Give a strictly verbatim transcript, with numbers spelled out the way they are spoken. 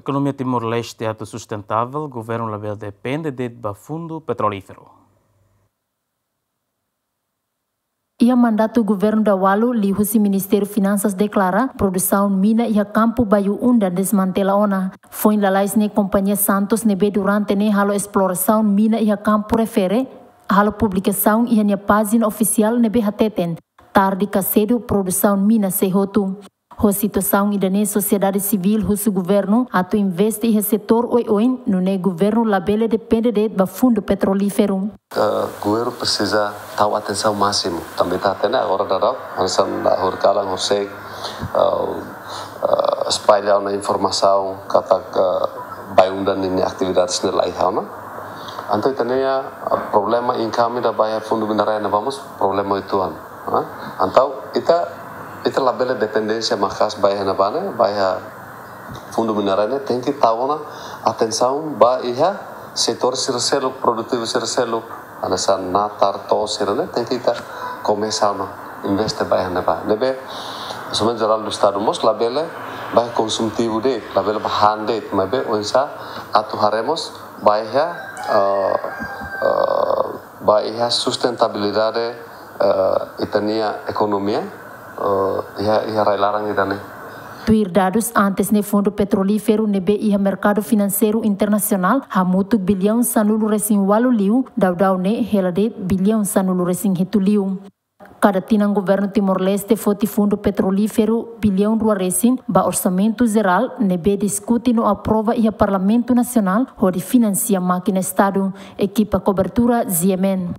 Ekonomia Timor-Leste atu sustentável, governu labele depende de'it ba fundu petrolíferu. Iha mandatu governu daudaun liuhusi Ministériu Finansas deklara produsaun mina iha kampu Bayu-Undan desmantela ona. Foin lalais ne'e kompañia Santos ne'ebé durante ne'e halo esplorasaun mina iha kampu refere, halo publikasaun iha nia pájina ofisiál ne'ebé hateten, tarde ka sedu produsaun mina sei hotu. Ho situasaun ida-ne'e sosiedade sivíl husu governu atu investe iha setór oioin, nune'e governu labele depende de'it ba fundu petrolíferu. Eh, governu presiza tau atensaun másimu. Tanba ita hatene agora daudaun, hanesan horikalan, horisehik, eh, eh, espalla ona informasaun katak, eh, Bayu-Undan ninia atividades ne'e la iha ona. Entaun ita-nia, eh, problema income ida ba iha fundu minerária ne'ebá mós problema uitoan. Ha? Entaun ita, ita labele dependénsia maka'as ba iha ne'ebá ne'e, ba iha fundu minerária ne'e, tenke tau ona atensaun ba iha setór sira seluk, produtivu sira seluk, hanesan natar, to'os sira-ne'e, tenke ita komesa ona investe ba iha ne'ebá. Ne'ebé, Orçamentu Jerál do Estadu mós labele ba iha konsumtivu de'it, labele ba han de'it, maibé oinsá atu haree mós ba iha, eh, eh, ba iha sustentabilidade, eh, ita-nia ekonomia, eh, iha, iha rai-laran ida-ne'e. Tuir dadus antes ne'e, fundu petrolíferu ne'ebé iha merkadu finanseiru internasionál hamutuk biliaun sanulu-resin-ualu liu, daudaun ne'e hela de'it biliaun sanulu-resin-hitu liu. Kada tinan governu Timor-Leste foti fundu petrolíferu biliaun rua resin ba orsamentu jerál ne'ebé diskute no aprova iha Parlamentu Nasionál hodi finansia mákina Estadu. Ekipa kobertura, G M N.